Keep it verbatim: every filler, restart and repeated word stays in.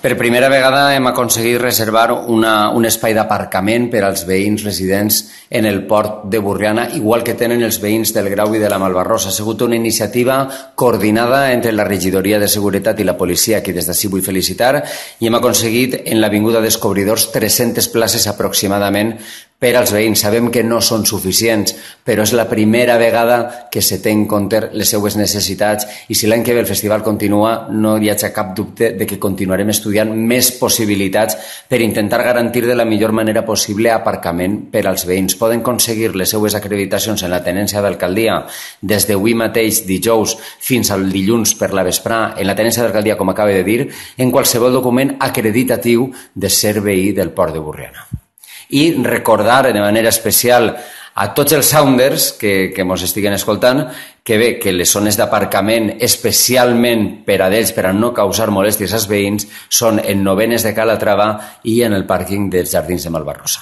Per primera vegada hem aconseguit reservar una, un espai d'aparcament per als veïns residents en el port de Borriana, igual que tenen els veïns del Grau i de la Malvarrosa. Ha sigut una iniciativa coordinada entre la Regidoria de Seguretat i la policia, a qui des d'ací vull felicitar, i hem aconseguit en l'Avinguda Descobridors tres-centes places aproximadament per als veïns. Sabem que no són suficients, però és la primera vegada que se té en compte les seues necessitats, i si l'any que ve el festival continua, no hi ha cap dubte de que continuarem estudiant més possibilitats per intentar garantir de la millor manera possible aparcament per als veïns. Poden aconseguir les seues acreditacions en la tenència d'alcaldia des d'avui mateix, dijous, fins al dilluns per la vesprà, en la tenència d'alcaldia, com acaba de dir, en qualsevol document acreditatiu de ser veí del port de Borriana. I recordar de manera especial a tots els sounders que, que ens estiguen escoltant que bé, que les zones d'aparcament especialment per a ells, per a no causar molèsties als veïns, són en Novenes de Calatrava i en el pàrquing dels Jardins de Malvarrosa.